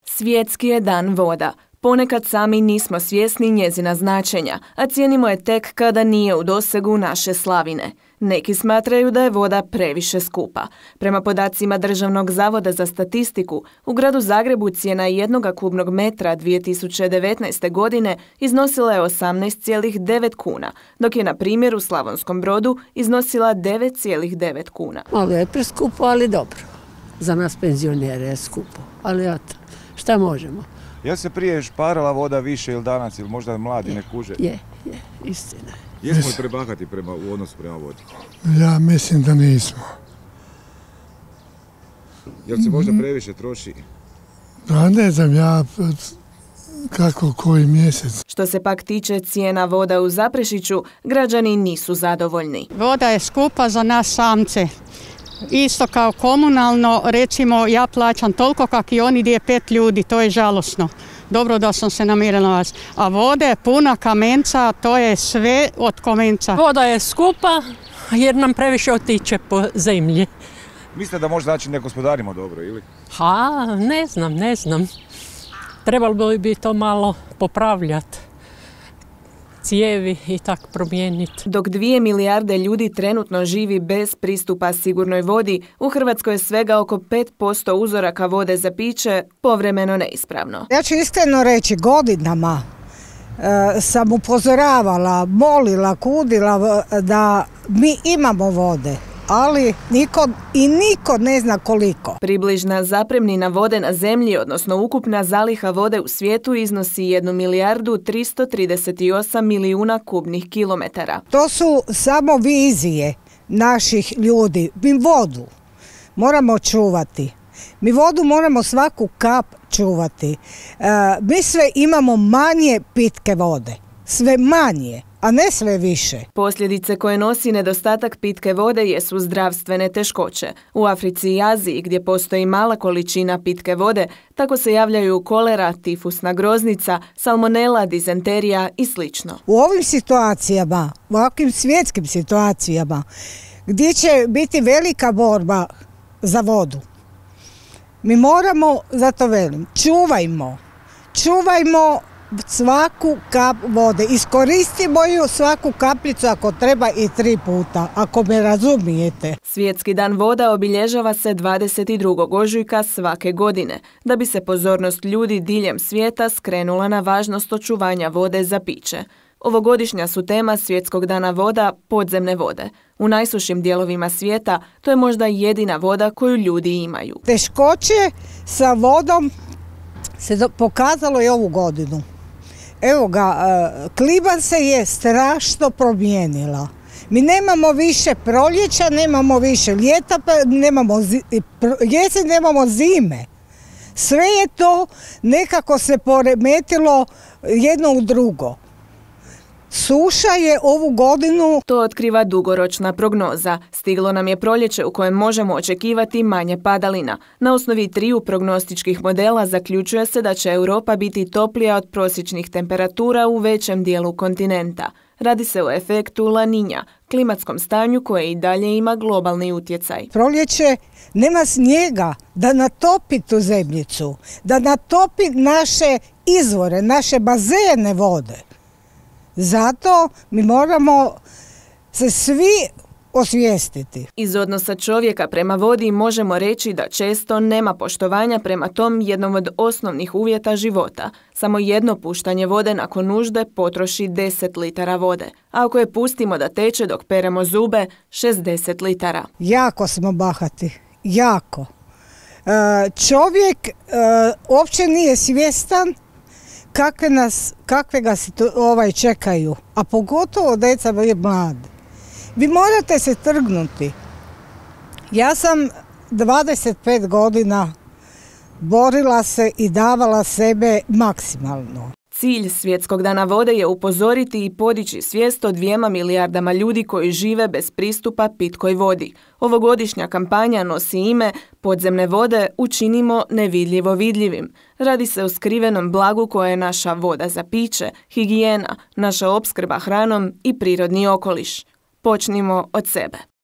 Svjetski je dan voda. Ponekad sami nismo svjesni njezina značenja, a cijenimo je tek kada nije u dosegu naše slavine. Neki smatraju da je voda previše skupa. Prema podacima Državnog zavoda za statistiku, u gradu Zagrebu cijena 1 kubnog metra 2019. godine iznosila je 18,9 kuna, dok je na primjer u Slavonskom Brodu iznosila 9,9 kuna. Malo je preskupo, ali dobro. Za nas penzionere je skupo, ali eto, šta možemo? Jel se prije šparala voda više ili danas, ili možda mladi ne kuže? Je, istina. Jesmo li prebahati u odnosu prema vodi? Ja mislim da nismo. Jel se možda previše troši? Pa ne znam ja kako koji mjesec. Što se pak tiče cijena voda u Zaprešiću, građani nisu zadovoljni. Voda je skupa za nas samce. Isto kao komunalno, recimo ja plaćam toliko kak i oni gdje je 5 ljudi, to je žalosno. Dobro da sam se namirila vas. A vode je puna kamenca, to je sve od kamenca. Voda je skupa jer nam previše otiče po zemlji. Mislite da možda znači ne gospodarimo dobro ili? Ne znam. Trebalo bi to malo popravljati. Cijevi i tako promijeniti. Dok 2 milijarde ljudi trenutno živi bez pristupa sigurnoj vodi, u Hrvatskoj je svega oko 5% uzoraka vode za piće povremeno neispravno. Ja ću iskreno reći, godinama sam upozoravala, molila, kudila da mi imamo vode, ali niko ne zna koliko. Približna zapremnina vode na zemlji, odnosno ukupna zaliha vode u svijetu, iznosi 1 milijardu 338 milijuna kubnih kilometara. To su samo vizije naših ljudi. Mi vodu moramo čuvati. Mi vodu moramo svaku kap čuvati. Mi sve imamo manje pitke vode. Sve manje, a ne sve više. Posljedice koje nosi nedostatak pitke vode jesu zdravstvene teškoće. U Africi i Aziji, gdje postoji mala količina pitke vode, tako se javljaju kolera, tifusna groznica, salmonela, dizenterija i sl. U ovim situacijama, u ovakvim svjetskim situacijama, gdje će biti velika borba za vodu, mi moramo, zato velim, čuvajmo svaku kap vode. Iskoristimo ju svaku kapljicu ako treba i 3 puta, ako me razumijete. Svjetski dan voda obilježava se 22. ožujka svake godine, da bi se pozornost ljudi diljem svijeta skrenula na važnost očuvanja vode za piće. Ovogodišnja su tema Svjetskog dana voda podzemne vode. U najsušim dijelovima svijeta to je možda jedina voda koju ljudi imaju. Teškoće sa vodom se pokazalo i ovu godinu. Evo ga, klima se je strašno promijenila. Mi nemamo više proljeća, nemamo više ljeta, nemamo jesen, nemamo zime. Sve je to nekako se poremetilo jedno u drugo. Suša je ovu godinu... To otkriva dugoročna prognoza. Stiglo nam je proljeće u kojem možemo očekivati manje padalina. Na osnovi 3 prognostičkih modela zaključuje se da će Europa biti toplija od prosječnih temperatura u većem dijelu kontinenta. Radi se o efektu La Niña, klimatskom stanju koje i dalje ima globalni utjecaj. Proljeće nema snijega da natopi tu zemljicu, da natopi naše izvore, naše bazene vode. Zato mi moramo se svi osvijestiti. Iz odnosa čovjeka prema vodi možemo reći da često nema poštovanja prema tom jednom od osnovnih uvjeta života. Samo jedno puštanje vode nakon nužde potroši 10 litara vode. A ako je pustimo da teče dok peremo zube, 60 litara. Jako smo bahati. Jako. Čovjek uopće nije svjestan kakve ga čekaju, a pogotovo djeca je mlade. Vi morate se trgnuti. Ja sam 25 godina borila se i davala sebe maksimalno. Cilj Svjetskog dana vode je upozoriti i podići svijest o 2 milijardama ljudi koji žive bez pristupa pitkoj vodi. Ovogodišnja kampanja nosi ime Podzemne vode učinimo nevidljivo vidljivim. Radi se o skrivenom blagu koje je naša voda za piće, higijena, naša opskrba hranom i prirodni okoliš. Počnimo od sebe.